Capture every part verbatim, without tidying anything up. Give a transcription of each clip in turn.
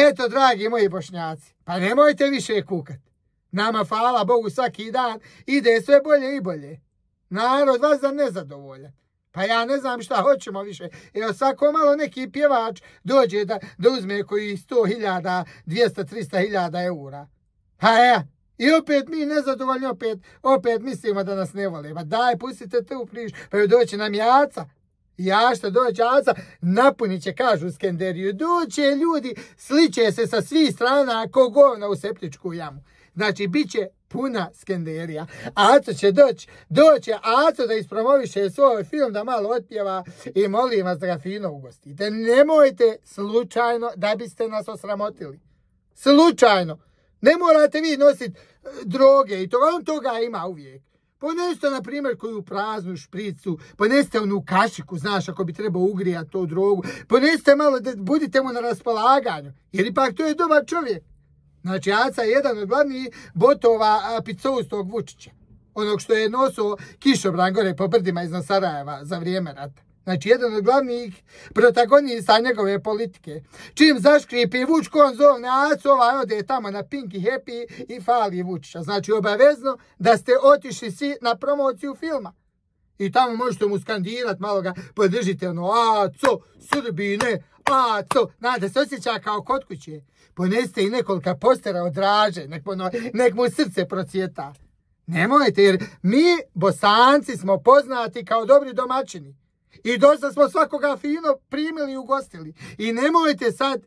Eto, dragi moji Bošnjaci, pa nemojte više kukat. Nama, hvala Bogu, svaki dan ide sve bolje i bolje. Narod vas da nezadovoljan. Pa ja ne znam šta hoćemo više. Evo, svako malo neki pjevač dođe da, da uzme koji sto hiljada, dvjesto, tristo hiljada eura. Ha ja, i opet mi nezadovoljni, opet, opet mislimo da nas ne vole. Pa daj, pustite tu priču, pa joj doći nam jaca. Ja što dođe jaca, napunit će, kažu u Skenderiju. Doće ljudi, sliče se sa svih strana ko govna u septičku jamu. Znači, bit će puna Skenderija. Aco će doći, doće Aco da ispromoviše svoj film, da malo otpjeva i molim vas da ga fino ugostite. Nemojte slučajno da biste nas osramotili. Slučajno. Ne morate vi nositi droge i to, on toga ima uvijek. Ponesite, na primjer, koju praznu špricu, ponesite onu kašiku, znaš, ako bi trebao ugrijati tu drogu, ponesite malo da budite mu na raspolaganju, jer ipak to je dobar čovjek. Znači, Aca je jedan od glavnih botova picoustog Vučića, onog što je nosio kišobran gore po brdima iznad Sarajeva za vrijeme rata. Znači, jedan od glavnih protagonista njegove politike. Čim zaškripi Vučko, on zovne Acu, ovaj ode tamo na Pink i Happy i fali Vučića. Znači, obavezno da ste otišli svi na promociju filma. I tamo možete mu skandirat, malo ga podržite, ono, Aco, Srbine, Aco, znate, se osjeća kao kod kuće. Ponesite i nekolika postera od Draže, nek, ono, nek mu srce procvjeta. Nemojte, jer mi, Bosanci, smo poznati kao dobri domaćini. I dosta smo svakoga fino primili i ugostili. I nemojte sad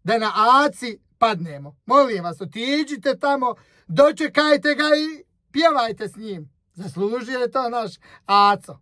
da na Aci padnemo. Molim vas, otiđite tamo, dočekajte ga i pjevajte s njim. Zaslužio je to naš Aco.